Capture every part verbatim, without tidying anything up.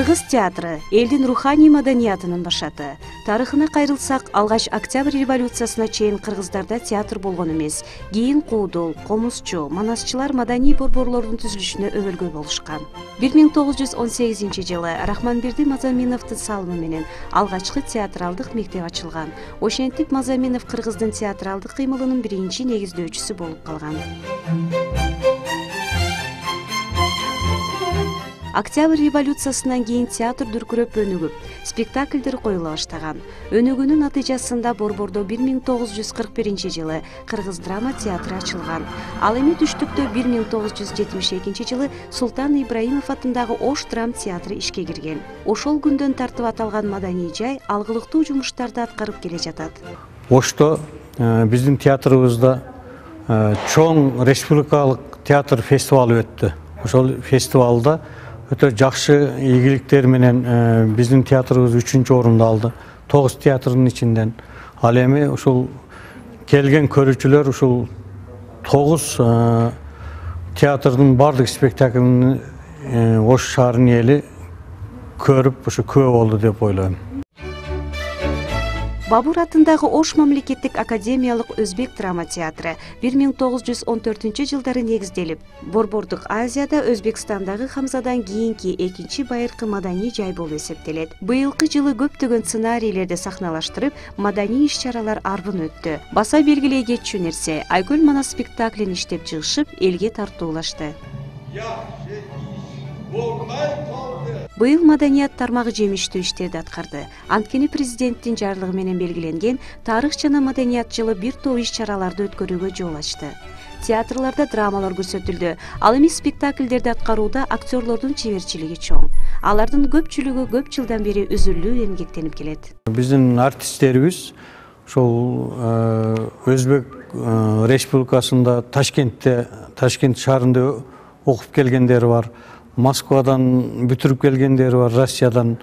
Кыргыз театры элдин руханий маданиятынын башаты. Тарыхына кайрылсак, алгач Октябрь революциясына чейин кыргыздарда театр болгон эмес. Кийин куудул, комузчу, манасчылар маданий борборлордун түзүлүшүнө өбөлгө болушкан. бир миң тогуз жүз он сегизинчи жылы Рахманберди Мазаминовдун салымы менен алгачкы театралдык мектеп ачылган. Ошентип Мазаминов кыргыздын театралдык кыймылынын биринчи негиздөөчүсү болуп калган. Октябрь революциясынан кийин театр дүркүрөп өнүгүп, спектакльдер коюла баштаган. Өнүгүүнүн натыйжасында борбордо бир миң тогуз жүз кырк биринчи жылы Кыргыз драма театры ачылган. Ал эми түштүктө бир миң тогуз жүз жетимиш экинчи жылы Султан Ибраимов атындагы Ош драм театры ишке кирген. Ошол күндөн тартып аталган маданий жай алгылыктуу жумуштарды аткарып келе жатат. Ошто биздин театрыбызда чоң республикалык театр фестивалы өттү. Ошол фестивалда өтө жакшы ийгиликтер менен биздин театрыбыз үчүнчү орунду алды. Тогуз театрдын ичинден. Ал эми ушул келген көрүүчүлөр ушул тогуз театрдын бардык спектаклин Ош шаарынын эли көрүп, ушу күбө болду деп ойлойм. Бабур атындагы Ош мамлекеттик академиялык өзбек драма театры бир миң тогуз жүз он төртүнчү жылдары негизделип, Борбордук Азияда Өзбекстандагы Хамзадан кийинки экинчи байыркы маданий жай болуп эсептелет. Быйылкы жылы көптөгөн сценарийлерди сахналаштырып, маданий иш-чаралар арбын өттү. Баса белгилей кетчү нерсе, Айкөл манас спектаклин иштеп чыгышып, элге тартуулашты. Быйыл маданият тармагы жемиштүү иштерди аткарды. Анткени президенттин жарлыгы менен белгиленген тарых жана маданият жылы бир топ иш-чараларды өткөрүүгө жол ачты. Театрларда драмалар көрсөтүлдү. Ал эми спектакльдерди аткарууда актерлордун чеберчилиги чоң. Алардын көпчүлүгү көп жылдан бери үзүлүү эмгектенип келет. Биздин артисттерибиз ошол Өзбек республикасында Ташкентте, Ташкент шаарында окуп келгендери бар. Москвадан бүтүрүп келгендери бар, Россиядан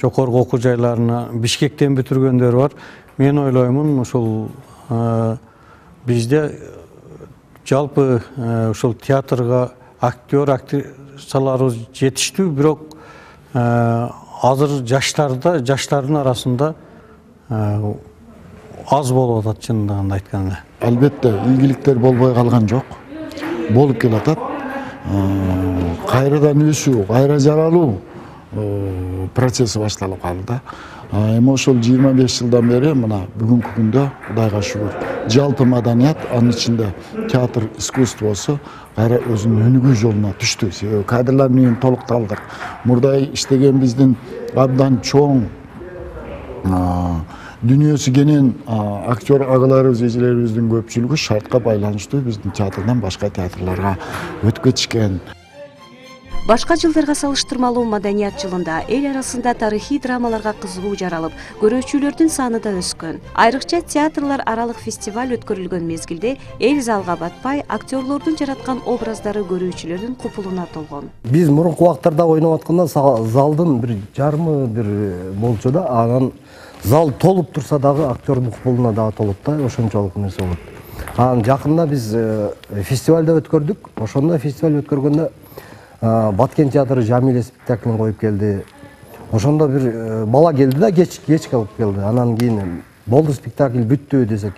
жокорку окуу жайларына, Бишкектен бүтүргөндөр бар. Мен ойлоймун, ушул бизде жалпы ушул театрга актер, актрисаларыбыз жетиштүү, бирок азыр жаштарда, жаштардын арасында аз болуп атат, чындыгын айтканда. Албетте, ийгиликтер болбой калган жок. Болуп келатат. Кайрадан өсүү, кайра жаралуу процесси башталып калды. Эми ошол жыйырма беш жылдан бери мына бүгүнкү күндө Кудайга шүгүр, жалпы маданият, анын ичинде театр искусствосу кайра өзүнүн өнүгүү жолуна түштү. Себеби кадрлар менен толукталдык. Мурда иштеген биздин абдан чоң дүнүйөсү кенен актер агаларыбыз, эжелерибиздин көпчүлүгү шартка байланыштуу биздин театрдан башка театрларга өтүп кетишкен. Башка жылдарга салыштырмалуу маданият жылында эл арасында тарыхый драмаларга кызыгуу жаралып, көрүүчүлөрдүн саны да өскөн. Айрыкча театрлар аралык фестиваль өткөрүлгөн мезгилде эл залга батпай, актерлордун жараткан образдары көрүүчүлөрдүн купулуна толгон. Биз мурунку убактарда ойноп атканда залдын бир жарымы бир болчу да, анан зал толуп турса дагы актердун купулуна дагы толот да, ошончолук нерсе болот. Анан жакында биз фестивальда өткөрдүк. Ошондо фестиваль өткөргөндө Баткен театры Жамиле спектаклин коюп келди. Ошондо бир бала келди да, кеч кеч калып келди. Анан кийин болду спектакль бүттү десек,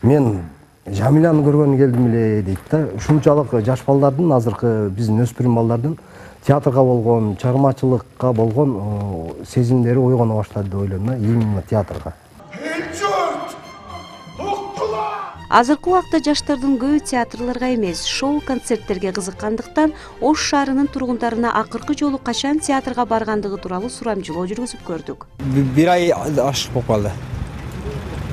мен Жамиляны көргөнү келдим эле дейт да. Ушунчалык жаш балдардын, азыркы биздин өспүрүм балдардын театрга болгон, чыгармачылыкка болгон сезимдери ойгоно баштады деп ойлойм да, именно театрга. Азыркы убакта жаштардын көбү театрларга эмес, шоу-концерттерге кызыккандыктан Ош шаарынын тургундарына акыркы жолу качан театрга баргандыгы тууралуу сурамжылоо жүргүзүп көрдүк. Бир ай ашык болуп калды.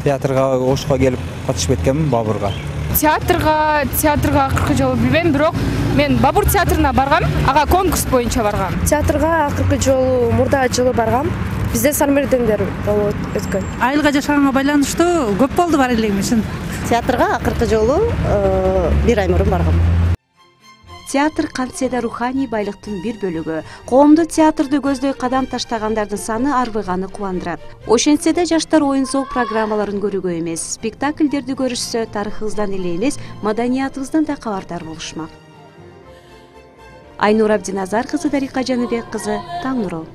Театрга Ошко келип катышып кеткенмин, Бабурга. Театрга, театрга акыркы жолу билбейм, бирок мен Бабур театрына баргам, ага конкурс боюнча баргам. Театрга акыркы жолу мурда жылы баргам. Бизде Сармердендер болуп өткөн. Айылга жашаганга байланыштуу көп болду бар элем үчүн. Театрга акыркы жолу бир ай мурун баргам. Театр кантсе да руханий байлыктын бир бөлүгү. Коомдо театрды көздөй кадам таштагандардын саны арбыганы кубандырат. Ошентсе да жаштар оюн-зоо программаларын көрүүгө эмес, спектакльдерди көрүшсө, тарыхыбыздан эле эмес, маданиятыбыздан да кабардар болушмак. Айнур Абдиназар кызы, Дарика Жаныбек кызы, Таң нуру.